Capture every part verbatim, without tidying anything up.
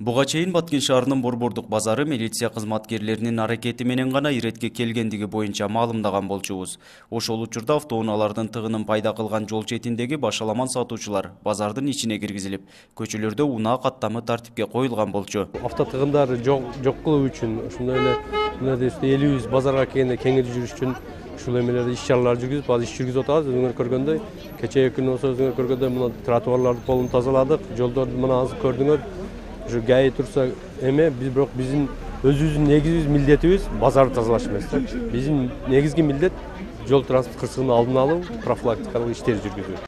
Буга чейин Баткен шаарынын Борбордук базары милиция кызматкерлеринин аракети менен гана иретке келгендиги боюнча маалымдаган болчубуз. Ошол учурда автоунаалардын тыгынын пайда кылган жол четиндеги башаламан сатуучулар базардын ичине киргизилип, көчөлөрдө унаа каттамы тартипке коюлган болчу. Авто тыгындарды жок кылуу үчүн ошондой эле элибиз базарга келгенде кеңири жүрүш үчүн ушул эмелерди иш-чаралар жүргүзүп, азыр иш жүргүзүп атабыз. Өзүңөр көргөндөй, кечээ күнү болсо өзүңөр көргөндөй мына тротуарларды полун тазаладык, жолдорду мына азыр көрдүңөр. Ушу ГАИ турса эме, биз бирок биздин өзүбүздүн негизги милдетибиз базарды тазалаш эмес да. Биздин негизги милдет жол транспорт кырсыгынын алдын алуу, профилактикалык иштерди жүргүзүү.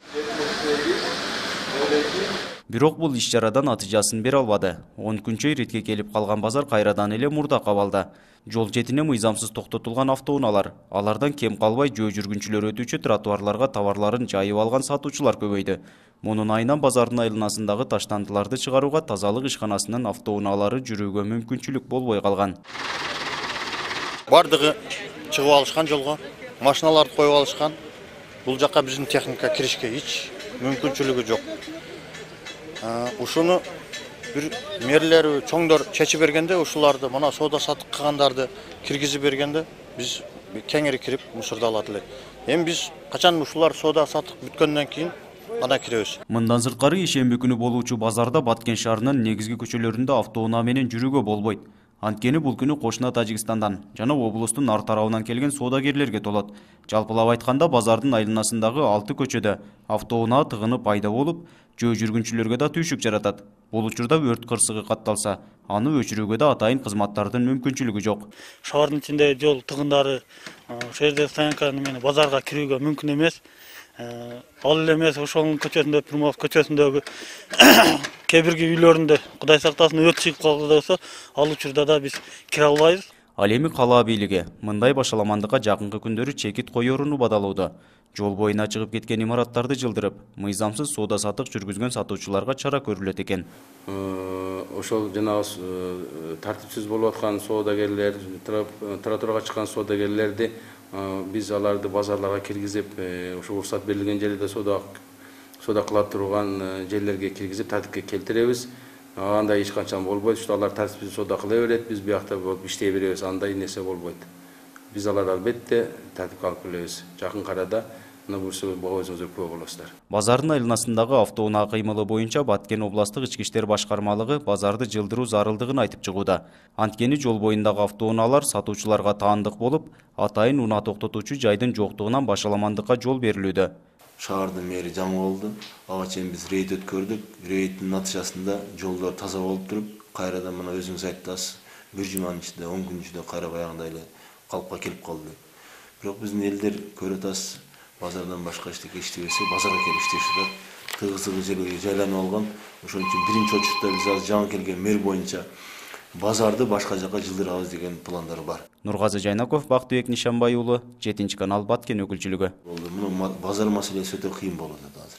Бирок бул иш-чарадан натыйжасын бере албады. он күнчө иретке келип калган базар кайрадан эле мурда кабалды. Жол четине мыйзамсыз токтотулган автоунаалар, алардан кем калбай жөө жүргүнчүлөр өтүүчү тротуарларга товарларын жайып алган сатуучулар көбөйдү. Мунун айынан базардын айланасындагы таштандыларды чыгарууга тазалык ишканасынын автоунаалары жүрүүгө мүмкүнчүлүк болбой калган. Бардыгы чыгып алышкан жолго, машиналарды коюп алышкан. Бул жакка биздин техника киришке эч мүмкүнчүлүгү жок. Ушуну бир мэрлер чоңдор чечип бергенде, ушуларды мына соода сатык кылгандарды киргизип бергенде, биз кеңири кирип мусорду алат элек. Эми биз качан ушулар соода сатык бүткөндөн кийин ана киребиз. Мындан сырткары ишемби күнү болуучу базарда Баткен шаарынын негизги көчөлөрүндө автоунаа менен жүрүүгө болбойт. Анткени бул күнү кошуна Тажикстандан жана облустун ар тарабынан келген соодагерлерге толот. Жалпылап айтканда базардын айланасындагы алты көчөдө автоунаа тыгыны пайда болуп, жөө жүргүнчүлөргө да түйшүк жаратат. Бул учурда өрт кырсыгы катталса, аны өчүрүүгө да атайын кызматтардын мүмкүнчүлүгү жок. Шаардын ичинде жол тыгындары ошол жерде стоянка менен базарга кирүүгө мүмкүн эмес. Ал эле эмес, ошонун көчөсүндө, Приморск көчөсүндөгү кээ бирги үйлөрүндө Кудай сактасын өрт чыгып калды болсо, ал учурда да биз кире албайбыз. Ал эми кала бийлиги мындай башаламандыкка жакынкы күндөрү чекит коерууну бадалууда. Жол боюна чыгып кеткен имараттарды жылдырып, мыйзамсыз соода сатык жүргүзгөн сатуучуларга чара көрүлөт экен. Ошол жанагы тартипсиз болуп аткан соодагерлер, тротуарга чыккан соодагерлерди биз аларды базарларга киргизип, ошо уруксат берилген жерде соода соода кыла турган жерлерге киргизип тартипке келтиребиз. Андай эч качан болбойт. Ушул алар тартипсиз соода кыла берет, биз биякта болуп иштей беребиз. Андай нерсе болбойт. Биз аларды албетте тартипке алып келебиз. Жакын арада мына буюрса өзүңүздөр күбө болосуздар. Базардын айланасындагы автоунаа кыймылы боюнча Баткен областык ички иштер башкармалыгы базарды жылдыруу зарылдыгын айтып чыгууда. Анткени жол боюндагы автоунаалар сатуучуларга таандык болуп, атайын унаа токтотуучу жайдын жоктугунан башаламандыкка жол берилүүдө. Шаардын мэри жаңы болду. Ага чейин биз рейд өткөрдүк. Рейдтин натыйжасында жолдор таза болуп туруп, кайрадан мына өзүңүз айттыңыз, бир жуманын ичинде, он күн ичинде кайра баягындай эле калыпка келип калды. Бирок биздин элдер көрүп атасыз, базардан башка эчтеке иштебесе, базарга келип иштешип, тыгызыгы жерге жайланып алган. Ошон үчүн биринчи очурда биз азыр жаңы келген мэр боюнча базарды башка жака жылдырабыз деген пландар бар. Нургазы Жайнаков, Бактыбек Нишанбай уулу, жетинчи канал Баткен өкүлчүлүгү. Муну базар маселеси өтө кыйын болот азыр.